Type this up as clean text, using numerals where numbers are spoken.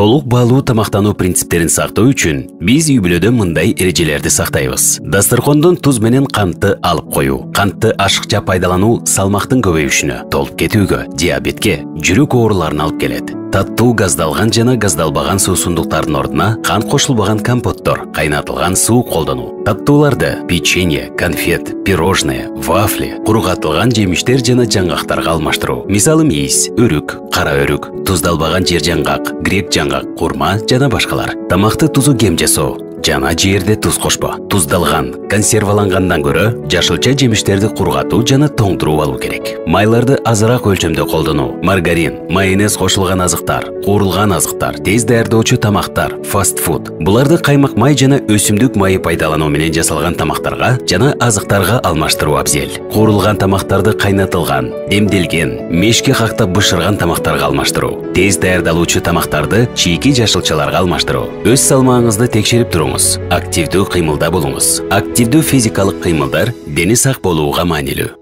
Толук баалуу тамактануу принциптерин сактоо үчүн биз үй-бүлөдө мындай эрежелерди сактайбыз. Дасторкондон туз менен кантты алып коюу. Кантты ашыкча пайдалануу салмактын көбөйүшүнө, толуп кетүүгө, диабетке, жүрөк ооруларына алып келет. Таттуу газдалган жана газдалбаган суусундуктардын ордуна кант кошулбаган компоттор, кайнатылган суу колдонуу. Таттууларды печенье, конфет, пирожное, вафли, куругатылган жемиштер жана жаңгактарга алмаштыруу. Мисалы мейиз, өрүк, кара өрүк, туздалбаган жер жаңгак, грек жаңгак, курма жана башкалар. Тамакты тузу кем жасоо. Жана жерде туз кошпо. Туздалган, консервалангандан көрө жашылча жемиштерди кургатуу жана тоңдуруп алуу керек. Майларды азыраак өлчөмдө колдонуу. Маргарин, майонез кошулган азыктар, куурулган азыктар, тез даярдоочу тамактар, фастфуд. Буларды каймак май жана өсүмдүк майы пайдалануу менен жасалган тамактарга жана азыктарга алмаштыруу абзел. Куурулган тамактарды кайнатылган, демделген, мешке кактап бышырган тамактарга алмаштыруу. Тез даярдалуучу тамактарды чийки жашылчаларга алмаштыруу. Өз салмагыңызды текшерип туруңуз. Активдүү кыймылда болуңуз. Активдүү физикалык кыймылдар дени сак болууга маанилүү.